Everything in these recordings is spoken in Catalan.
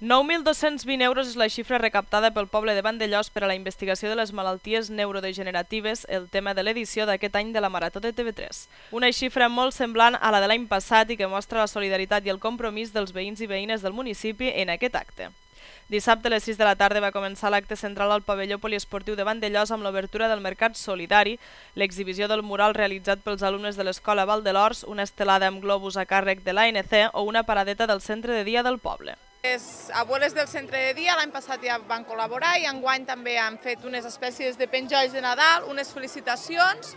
9.220 euros és la xifra recaptada pel poble de Vandellòs per a la investigació de les malalties neurodegeneratives, el tema de l'edició d'aquest any de la Marató de TV3. Una xifra molt semblant a la de l'any passat i que mostra la solidaritat i el compromís dels veïns i veïnes del municipi en aquest acte. Dissabte a les 6 de la tarda va començar l'acte central al pavelló poliesportiu de Vandellòs amb l'obertura del Mercat Solidari, l'exhibició del mural realitzat pels alumnes de l'Escola Val de l'Ors, una estelada amb globus a càrrec de l'ANC o una paradeta del centre de dia del poble. Les abueles del centre de dia l'any passat ja van col·laborar i enguany també han fet unes espècies de penjolls de Nadal, unes felicitacions,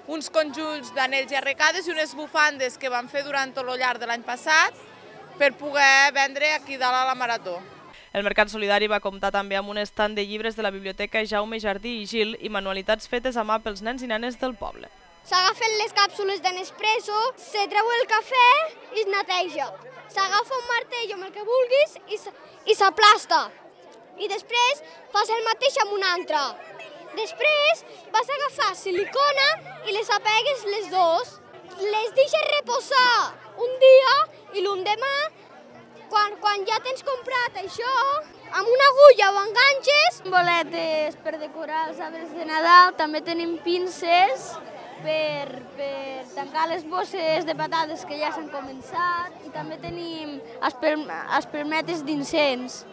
uns conjunts d'anells i arrecades i unes bufandes que van fer durant tot el llarg de l'any passat per poder vendre aquí dalt a la Marató. El Mercat Solidari va comptar també amb un estand de llibres de la Biblioteca Jaume Jardí i Gil i manualitats fetes a mà pels nens i nenes del poble. S'agafen les càpsules de Nespresso, se treu el cafè i es neteja. S'agafa un martell amb el que vulguis i s'aplasta. I després fas el mateix amb un altre. Després vas agafar silicona i les apegues les dos. Les deixes reposar un dia i l'endemà, quan ja tens comprat això, amb una agulla ho enganxes. Boletes per decorar els arbres de Nadal, també tenim pinces per tancar les bosses de patates que ja s'han començat i també tenim espelmetes d'incens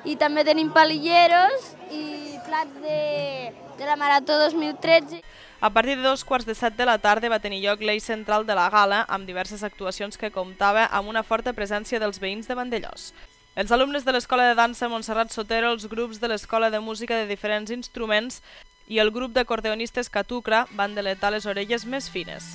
i també tenim palilleros i plats de la Marató 2013. A partir de 2:15 de la tarda va tenir lloc l'eix central de la gala amb diverses actuacions que comptava amb una forta presència dels veïns de Vandellòs. Els alumnes de l'Escola de Dansa Montserrat Sotero, els grups de l'Escola de Música de diferents instruments i el grup d'acordeonistes Catucra van deletar les orelles més fines.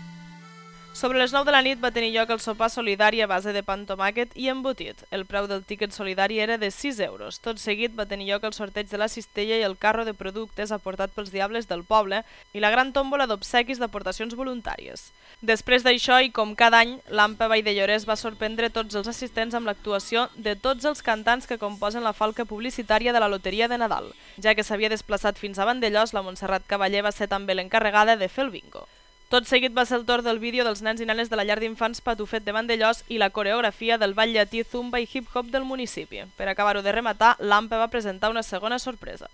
Sobre les 9 de la nit va tenir lloc el sopar solidari a base de pa amb tomàquet i embotit. El preu del tíquet solidari era de 6 euros. Tot seguit va tenir lloc el sorteig de la cistella i el carro de productes aportat pels diables del poble i la gran tòmbola d'obsequis d'aportacions voluntàries. Després d'això, i com cada any, l'AMPA Vall de Llorès va sorprendre tots els assistents amb l'actuació de tots els cantants que composen la falca publicitària de la Loteria de Nadal. Ja que s'havia desplaçat fins a Vandellòs, la Montserrat Cavaller va ser també l'encarregada de fer el bingo. Tot seguit va ser el torn del vídeo dels nens i nenes de la llar d'infants Patufet de Vandellòs i la coreografia del ball llatí, zumba i hip-hop del municipi. Per acabar-ho de rematar, l'AMPA va presentar una segona sorpresa.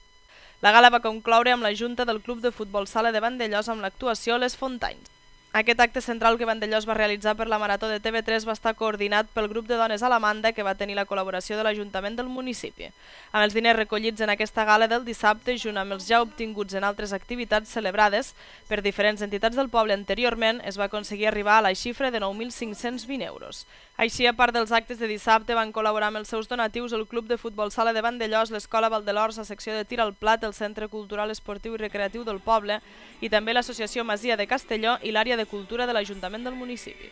La gala va concloure amb la junta del Club de Futbol Sala de Vandellòs amb l'actuació Les Fontanys. Aquest acte central que Vandellòs va realitzar per la Marató de TV3 va estar coordinat pel grup de dones Alamanda que va tenir la col·laboració de l'Ajuntament del municipi. Amb els diners recollits en aquesta gala del dissabte, junt amb els ja obtinguts en altres activitats celebrades per diferents entitats del poble anteriorment, es va aconseguir arribar a la xifra de 9.520 euros. Així, a part dels actes de dissabte, van col·laborar amb els seus donatius el Club de Futbol Sala de Vandellòs, l'Escola Val de l'Ors, la secció de tir al plat, el Centre Cultural Esportiu i Recreatiu del poble i també l'Associació Masia de Castelló i l'àrea de Cultura de l'Ajuntament del municipi.